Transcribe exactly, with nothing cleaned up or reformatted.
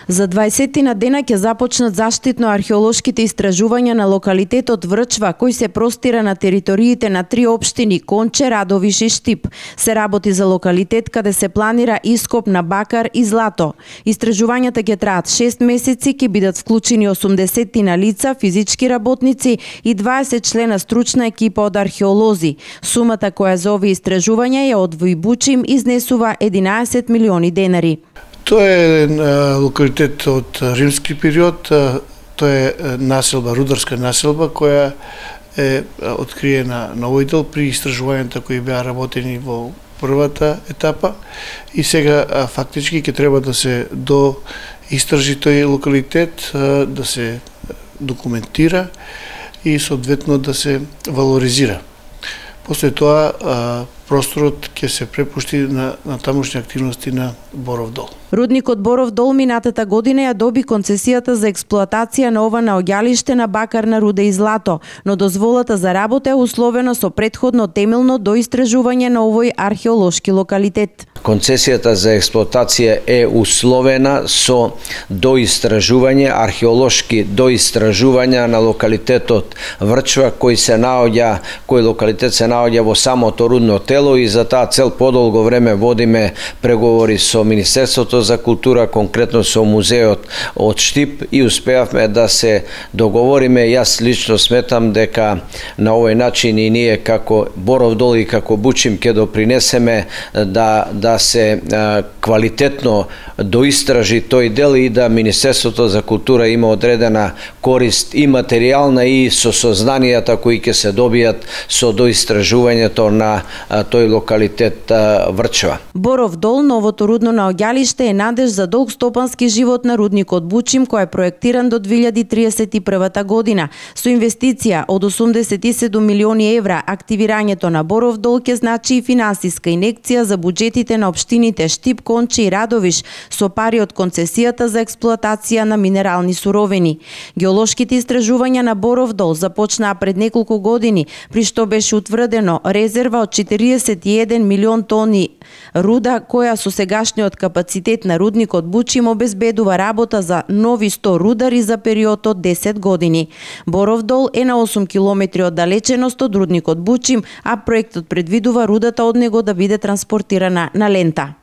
За дваесетина дена ќе започнат заштитно-археолошките истражувања на локалитетот Врчва, кој се простира на териториите на три општини Конче, Радовиш и Штип. Се работи за локалитет каде се планира ископ на бакар и злато. Истражувањата ќе траат шест месеци, ќе бидат вклучени осумдесетина лица, физички работници и дваесет члена стручна екипа од археолози. Сумата која за овие истражувања ја од Војбучим изнесува единаесет милиони денари. Тоа е локалитет од римски период, тоа е населба, рударска населба која е откриена на овој дел при истражувањата кои беа работени во првата етапа и сега фактички ќе треба да се до истражи тој локалитет, да се документира и соодветно да се валоризира. После тоа просторот ќе се препушти на, на тамошни активности на Боров дол. Рудникот Боров дол минатата година ја доби концесијата за експлоатација на ова наоѓалиште на бакарна руда и злато, но дозволата за работа е условена со претходно темелно доистражување на овој археолошки локалитет. Концесијата за експлоатација е условена со доистражување, археолошки доистражувања на локалитетот Врчва, кој се наоѓа, кој локалитет се наоѓа во самото рудно тело и за таа цел подолго време водиме преговори со Министерството за култура, конкретно со музеот од Штип и успеавме да се договориме. Јас лично сметам дека на овој начин и ние како Боров дол и како Бучим ќе допринесеме да да се а, квалитетно доистражи тој дел и да Министерството за култура има одредена корист и материјална и со сознанијата кои ќе се добијат со доистражувањето на а, тој локалитет а, Врчва. Боров дол, новото рудно наоѓалиште, е надеж за долг стопански живот на рудникот Бучим, кој е проектиран до две илјади триесет и прва година. Со инвестиција од осумдесет и седум милиони евра, активирањето на Боров дол ќе значи и финансиска инекција за буџетите на општините Штип, Конче и Радовиш со пари од концесијата за експлоатација на минерални суровини. Геолошките истражувања на Боров дол започнаа пред неколку години, при што беше утврдено резерва од четириесет и еден милион тони руда, која со сегашниот капацитет на рудникот Бучим обезбедува работа за нови сто рудари за период од десет години. Боров дол е на осум километри оддалеченост од рудникот Бучим, а проектот предвидува рудата од него да биде транспортирана на лента.